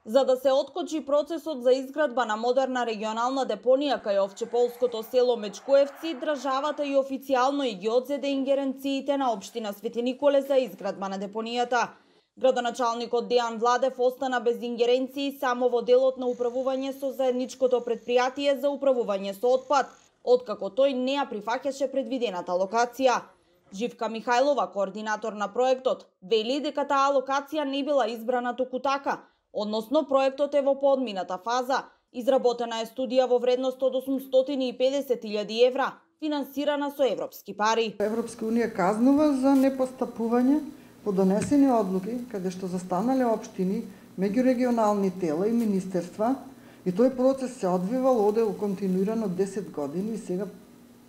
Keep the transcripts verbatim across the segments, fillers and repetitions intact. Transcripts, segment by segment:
За да се откочи процесот за изградба на модерна регионална депонија кај овчеполското село Мечкоевци, државата и официјално и ги одзеде ингеренциите на општина Свети Николе за изградба на депонијата. Градоначалникот Дејан Владев остана без ингеренции само во делот на управување со заедничкото претпријатие за управување со отпад, откако тој не ја прифаќаше предвидената локација. Живка Михајлова, координатор на проектот, вели дека таа локација не била избрана току така, односно проектот е во поодмината фаза. Изработена е студија во вредност од осумстотини и педесет илјади евра, финансирана со европски пари. Европска унија казнува за непостапување по донесени одлуки, каде што застанале општини, меѓурегионални тела и министерства, и тој процес се одвивал оде континуирано десет години, и сега,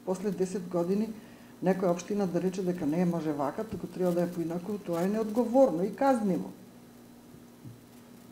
после десет години, некоја општина да рече дека не може вака, туку треба да е поинаку, тоа е неодговорно и казниво.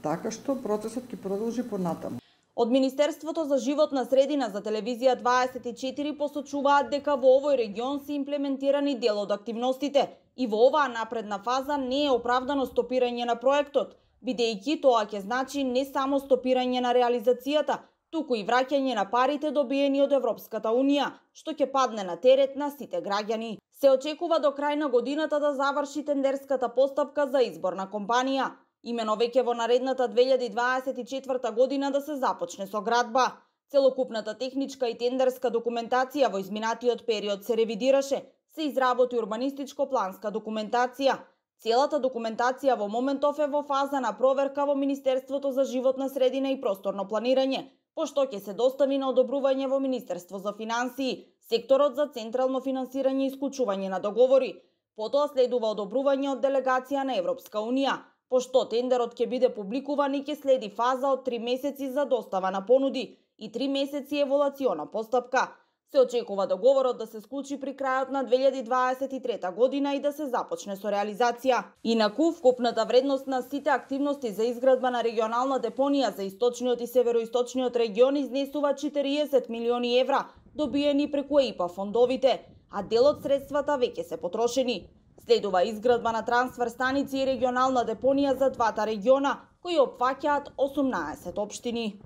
Така што процесот ќе продолжи понатаму. Од Министерството за животна средина за телевизија дваесет и четири посочуваат дека во овој регион се имплементирани дел од активностите и во оваа напредна фаза не е оправдано стопирање на проектот, бидејќи тоа ќе значи не само стопирање на реализацијата, туку и враќање на парите добиени од Европската унија, што ќе падне на терет на сите граѓани. Се очекува до крај на годината да заврши тендерската постапка за избор на компанија. Имено веќе во наредната две илјади дваесет и четврта година да се започне со градба. Целокупната техничка и тендерска документација во изминатиот период се ревидираше, се изработи урбанистичко-планска документација. Целата документација во моментов е во фаза на проверка во Министерството за животна средина и просторно планирање, пошто ќе се достави на одобрување во Министерство за финансии, секторот за централно финансирање и исклучување на договори. Потоа следува одобрување од делегација на Европска унија, пошто тендерот ќе биде публикуван и ќе следи фаза од три месеци за достава на понуди и три месеци еволуциона постапка. Се очекува договорот да се склучи при крајот на две илјади дваесет и трета година и да се започне со реализација. Инаку, вкупната вредност на сите активности за изградба на регионална депонија за источниот и североисточниот регион изнесува четириесет милиони евра, добиени преку Е И П А фондовите, а дел од средствата веќе се потрошени. Следува изградба на трансфер станици и регионална депонија за двата региона, кои опфаќаат осумнаесет општини.